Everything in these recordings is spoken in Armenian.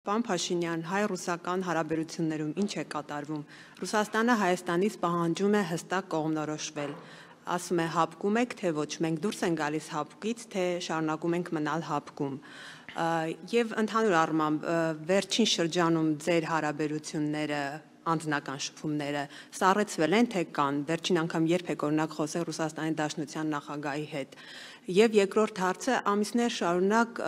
Պարոն Փաշինյան, հայ-ռուսական հարաբերություններում ինչ է կատարվում։ Ռուսաստանը Հայաստանից պահանջում է հստակ կողմնորոշվել։ Ասում է հապկում եք, թե ոչ, մենք դուրս ենք գալիս հապկից, թե շարունակում ենք մնալ հապկում։ Եվ ընդհանուր առմամբ վերջին շրջանում ձեր հարաբերությունները անձնական շփումները սառեցվել են, թե կան, վերջին անգամ երբ եք օրինակ խոսել Ռուսաստանի Դաշնության նախագահի հետ։ Եվ երկրորդ հարցը, ամիսներ շարունակ,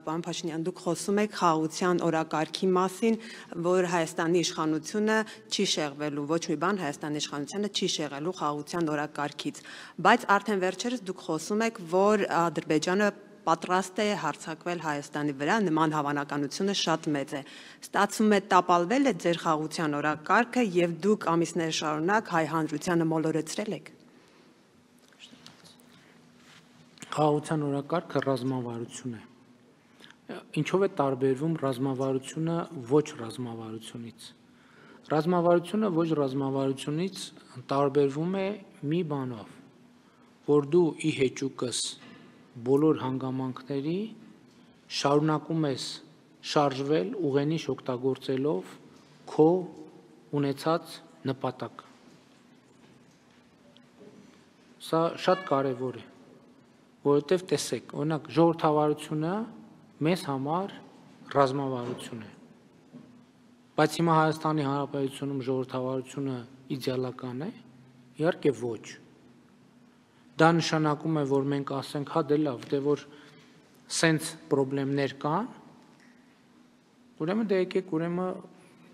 պարոն Փաշինյան, դուք խոսում եք խաղաղության օրակարգի մասին, որ Հայաստանի իշխանությունը չի շեղվելու, ոչ մի բան Հայաստանի իշխանությունը չի շեղելու խաղաղության օրակարգից, բայց արդեն վերջերս դուք խոսում եք, որ Ադրբեջանը պատրաստ է հարձակվել Հայաստանի վրա, նման հավանականությունը շատ մեծ է։ Ստացվում է տապալվել է ձեր խաղաղության օրակարգը եւ դուք ամիսներ շարունակ հայ հանրությանը մոլորեցրել եք։ Խաղաղության օրակարգը ռազմավարություն է։ Ինչով է տարբերվում ռազմավարությունը ոչ ռազմավարությունից։ Ռազմավարությունը ոչ ռազմավարությունից տարբերվում է մի բանով, որ դու ի հեճուկս բոլոր հանգամանքների շարունակում ես շարժվել ուղենիշ օգտագործելով քո ունեցած նպատակը։ Սա շատ կարևոր է, որովհետև տեսեք, օրինակ ժողովրդավարությունը մեզ համար ռազմավարություն է, բայց հիմա Հայաստանի Հանրապետությունում ժողովրդավարությունը իդեալական է, իհարկե ոչ։ Դա նշանակում է, որ մենք ասենք, հա դե լավ, դե որ սենց պրոբլեմներ կան, ուրեմն դե եկեք ուրեմն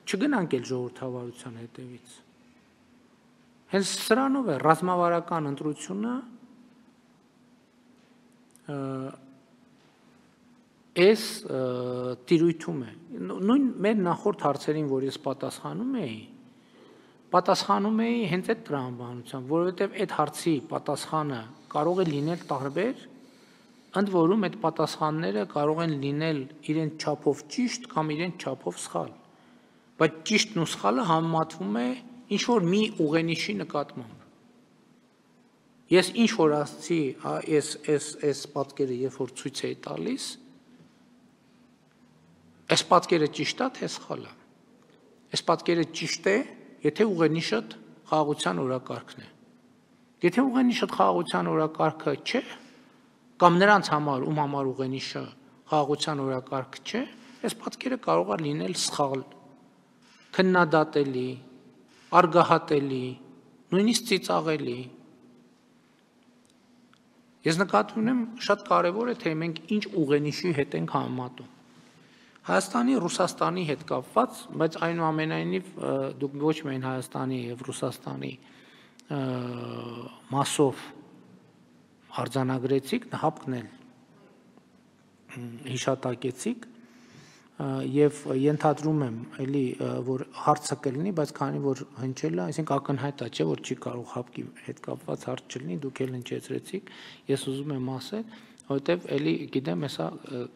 չգնանք էլ ժողովրդավարության հետևից։ Հենց սրանով է ռազմավարական ընտրությունը այս տիրույթում է։ Նույն մեր նախորդ հարցերին, որ ես պատասխանում էի հենց այդ տրամաբանությամբ, որովհետև այդ հարցի պատասխանը կարող է լինել տարբեր, ընդ որում այդ պատասխանները կարող են լինել իրենց չափով ճիշտ կամ իրենց չափով սխալ, բայց ճիշտն ու սխալը համեմատվում է ինչ-որ մի ուղենիշի նկատմամբ։ Ես ինչ-որ ասացի, այս պատկերը երբ որ ցույց էի տալիս, այս պատկերը ճիշտ է, թե սխալ է։ Այս պատկերը ճիշտ է, եթե ուղենիշդ խաղաղության օրակարգն է։ Եթե ուղենիշդ խաղաղության օրակարգը չէ, կամ նրանց համար, ում համար ուղենիշը խաղաղության օրակարգ չէ, այս պատկերը կարող է լինել սխալ, քննադատելի, արգահատելի, նույնիսկ ծիծաղելի։ Ես նկատի ունեմ, շատ կարևոր է, թե մենք ինչ ուղենիշի հետ ենք համեմատում։ Հայաստանի, Ռուսաստանի հետ կապված, բայց այնուամենայնիվ դուք ոչ միայն Հայաստանի եւ Ռուսաստանի մասով արձանագրեցիք, հապկն էլ հիշատակեցիք եւ ենթադրում եմ էլի, որ հարցը կլինի, բայց քանի որ հնչել է, այսինքն ակնհայտ է, չէ, որ չի կարող հապկի հետ կապված հարց չլինի, դուք էլ հնչեցրեցիք, ես ուզում եմ ասել, որովհետեւ էլի գիտեմ, հեսա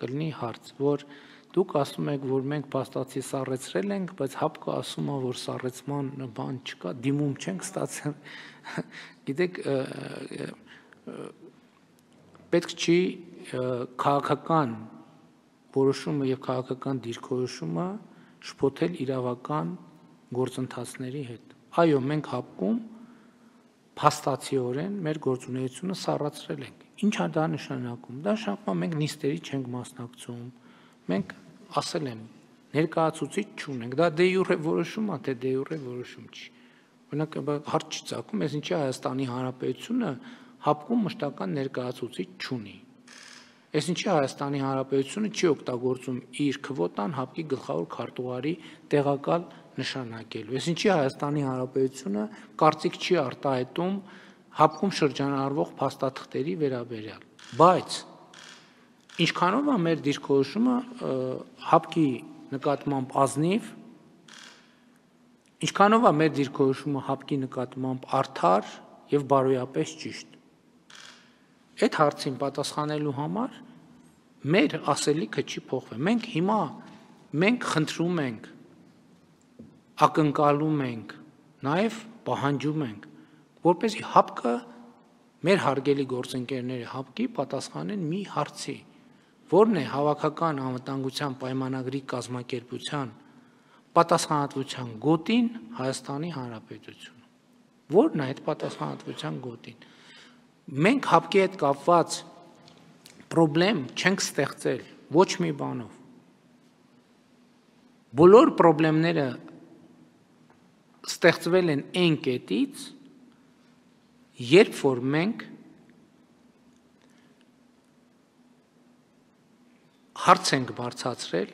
կլինի հարց, որ դուք ասում եք, որ մենք փաստացի սառեցրել ենք, բայց հապկը ասում է, որ սառեցման բան չկա, դիմում չենք ստացել։ Գիտեք, պետք չի քաղաքական որոշումը եւ քաղաքական դիրքորոշումը շփոթել իրավական գործընթացների հետ։ Այո, մենք հապկում փաստացիորեն մեր գործունեությունը սառացրել ենք։ Ինչ է դա նշանակում։ Դա նշանակում է մենք նիստերի չենք մասնակցում։ Մենք ասել եմ, ներկայացուցիչ չունենք, դա դե յուրե որոշում է, թե դե յուրե որոշում չի։ Օրինակ հարց չի ցակում, ես ինչի Հայաստանի Հանրապետությունը հապկում մշտական ներկայացուցիչ չունի։ Ես ինչի Հայաստանի Հանրապետությունը չի օգտագործում իր քվոտան հապկի գլխավոր քարտուղարի տեղակալ նշանակելու։ Ես ինչի Հայաստանի Հանրապետությունը կարծիք չի արտահայտում հապկում շրջանառվող փաստաթղթերի վերաբերյալ։ Բայց ինչքանով է մեր դիրքորոշումը հապկի նկատմամբ ազնիվ, ինչքանով է մեր դիրքորոշումը հապկի նկատմամբ արդար եւ բարոյապես ճիշտ։ Այդ հարցին պատասխանելու համար մեր ասելիքը չի փոխվել։ Մենք հիմա խնդրում ենք, ակնկալում ենք, նաեւ պահանջում ենք, որպեսզի հապկը մեր հարգելի գործընկերները հապկի պատասխանեն մի հարցի, որն է հավաքական անվտանգության պայմանագրի կազմակերպության պատասխանատվության գոտին Հայաստանի Հանրապետությունը։ Որն է այդ պատասխանատվության գոտին։ Մենք հապկի հետ կապված պրոբլեմ չենք ստեղծել ոչ մի բանով։ Բոլոր պրոբլեմները ստեղծվել են այն կետից, երբ որ մենք հարց ենք բարձրացրել,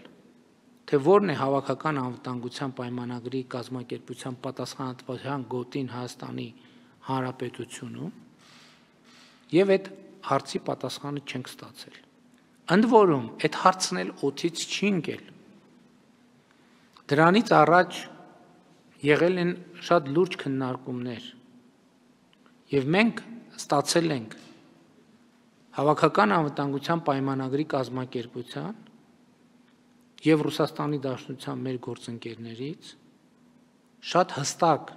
թե որն է հավաքական անվտանգության պայմանագրի կազմակերպության պատասխանատվության գոտին Հայաստանի Հանրապետությունում, եւ այդ հարցի պատասխանը չենք ստացել։ Ընդ որում, այդ հարցն էլ օդից չի ընկել։ Դրանից առաջ եղել են շատ լուրջ քննարկումներ, եւ մենք ստացել ենք հավաքական անվտանգության պայմանագրի կազմակերպության եւ Ռուսաստանի Դաշնության մեր գործընկերներից շատ հստակ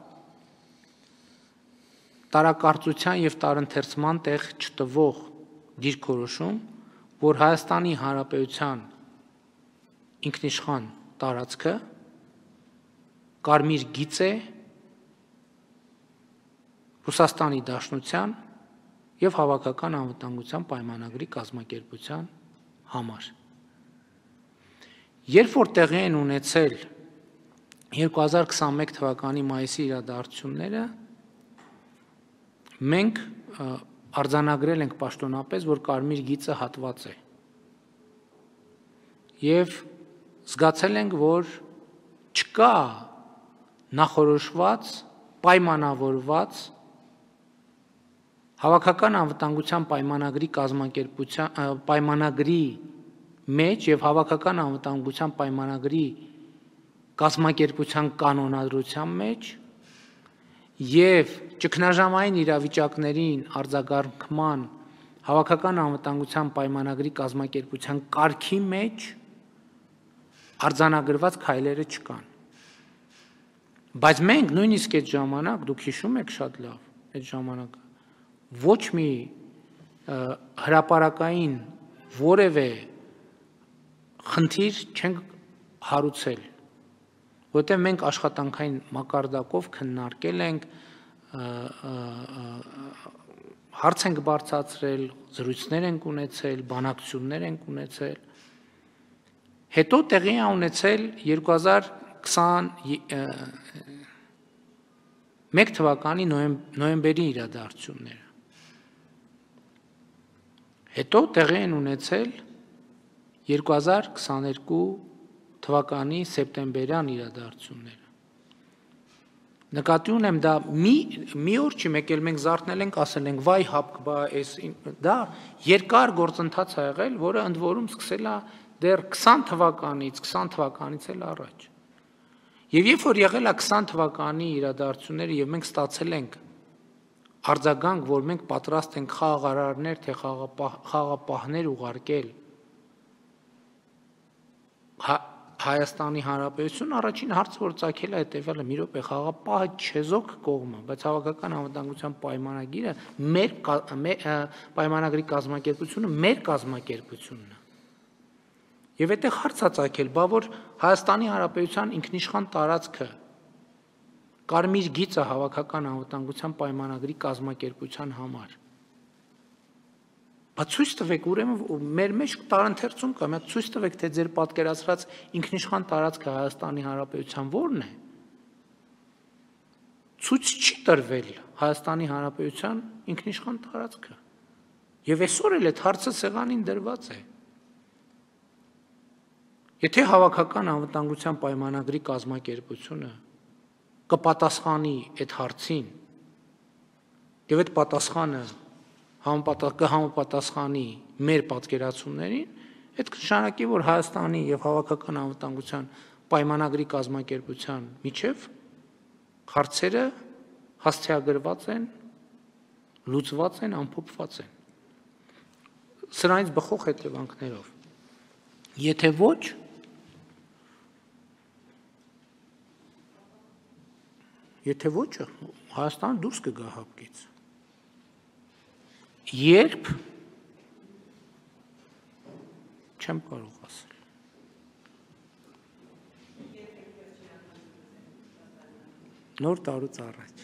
տարակարծության եւ տարընթերցման տեղ չտվող դիրքորոշում, որ Հայաստանի Հանրապետության ինքնիշխան տարածքը կարմիր գիծ է Ռուսաստանի Դաշնության եւ հավաքական անվտանգության պայմանագրի կազմակերպության համար։ Երբ որ տեղի են ունեցել 2021 թվականի մայիսի իրադարձությունները, մենք արձանագրել ենք պաշտոնապես, որ կարմիր գիծը հատված է։ Եվ զգացել ենք, որ չկա նախորոշված, պայմանավորված հավաքական անվտանգության պայմանագրի կազմակերպության պայմանագրի մեջ եւ հավաքական անվտանգության պայմանագրի կազմակերպության կանոնադրության մեջ եւ ճգնաժամային իրավիճակներին արձագանքման հավաքական անվտանգության պայմանագրի կազմակերպության կարգի մեջ արձանագրված քայլերը չկան։ Բայց մենք նույնիսկ այդ ժամանակ, դուք հիշում եք շատ լավ, այդ ժամանակը ոչ մի հրապարակային որևէ խնդիր չենք հարուցել, որտեղ մենք աշխատանքային մակարդակով քննարկել ենք, հարց ենք բարձրացրել, զրույցներ ենք ունեցել, բանակցություններ ենք ունեցել։ Հետո տեղի է ունեցել 2021 թվականի նոյեմբերի իրադարձությունները։ Հետո տեղի են ունեցել 2022 թվականի սեպտեմբերյան իրադարձությունները։ Նկատի ունեմ, դա մի օր չի, մեկ էլ մենք զարթնել ենք, ասել ենք, վայ հապկ, դա երկար գործընթաց ա եղել, որը ընդ որում սկսել է դեռ 20 թվականից էլ առաջ։ Եվ երբ որ եղել է 20 թվականի իրադարձությունները եւ մենք ստացել ենք արձագանք, որ մենք պատրաստ ենք խաղաղարարներ, թե խաղապահներ ուղարկել Հայաստանի Հանրապետություն, առաջին հարցը, որ ծագել է հետևյալը, մի րոպե, խաղապահը չեզոք կողմը, բայց հավաքական անվտանգության պայմանագիրը մեր պայմանագրի կազմակերպությունը մեր կազմակերպությունն է։ Եվ այդտեղ հարց է ծագել, բա որ Հայաստանի Հանրապետության ինքնիշխան տարածքը կարմիր գիծը հավաքական անվտանգության պայմանագրի կազմակերպության համար։ Բայց ցույց տվեք, ուրեմն մեր մեջ տարընթերցում կա, մենք ցույց տվեք, թե ձեր պատկերացրած ինքնիշխան տարածքը Հայաստանի Հանրապետության ո՞րն է։ Ցույց չի տրվել Հայաստանի Հանրապետության ինքնիշխան տարածքը։ Եվ այսօր էլ այդ հարցը սեղանին դրված է։ Եթե հավաքական անվտանգության պայմանագրի կազմակերպությունը կպատասխանի այդ հարցին, եւ այդ պատասխանը կհամապատասխանի մեր պատկերացումներին, այդ կնշանակի, որ Հայաստանի եւ հավաքական անվտանգության պայմանագրի կազմակերպության միջև հարցերը հաստիագրված են, լուծված են, ամփոփված են։ Սրանից բխող հետևանքներով։ Եթե ոչ, Հայաստանը դուրս կգա հապկից։ Երբ չեմ կարող ասել։ Նոր տարուց առաջ։